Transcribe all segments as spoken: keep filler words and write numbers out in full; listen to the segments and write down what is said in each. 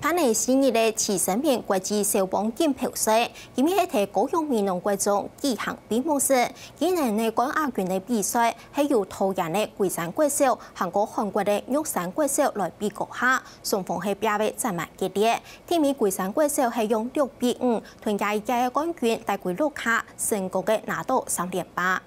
今年四月个徐生明國際少棒錦標賽，今日係在高雄美濃國中舉行閉幕式。今年个冠亞軍个比賽係由桃園个龜山國小還過韓國个玉山國小來比高下，雙方係拚到煞猛激烈。第一名龜山國小係用六比五，同這一屆个冠軍帶歸屋下，成功个拿到三連霸。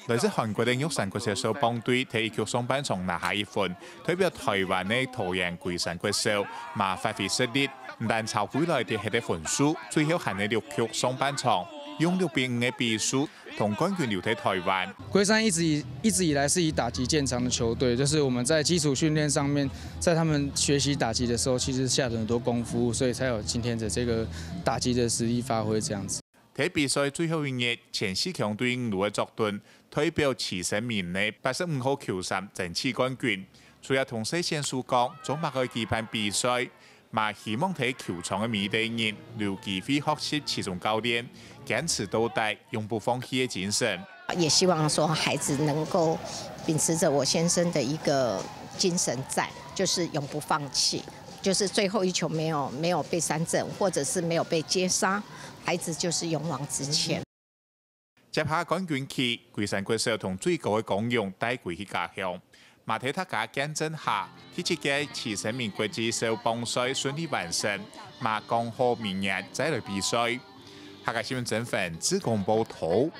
來自韓國个玉山國小少棒隊在一局上半場拿下一分，代表台灣个桃園龜山國小嘛發揮實力，毋但超過來得忒个分數，最後還係六局上半場，用六比五个比數同冠軍留在台灣。龜山一直以一直以来是以打击见长的球队，就是我们在基础训练上面，在他们学习打击的时候，其实下了很多功夫，所以才有今天的这个打击的实力发挥这样子。 在比賽最後一日，前四強隊伍个作陣，代表徐生明个八十五號球衫爭取冠軍。除了同選手講，做麼个愛舉辦比賽，嘛希望在球場个每一個人，有機會學習徐總教練堅持到底、永不放棄个精神。也希望說孩子能够秉持着我先生的一个精神在，就是永不放弃，就是最后一球没有没有被三振，或者是没有被接杀，孩子就是勇往直前。接下冠軍旗，龜山國小同最高个光榮帶歸去家鄉。嘛在大家見證下，第七屆徐生明國際少棒賽順利完成，嘛講好明年再來比賽。客家新聞曾粉，志工報導。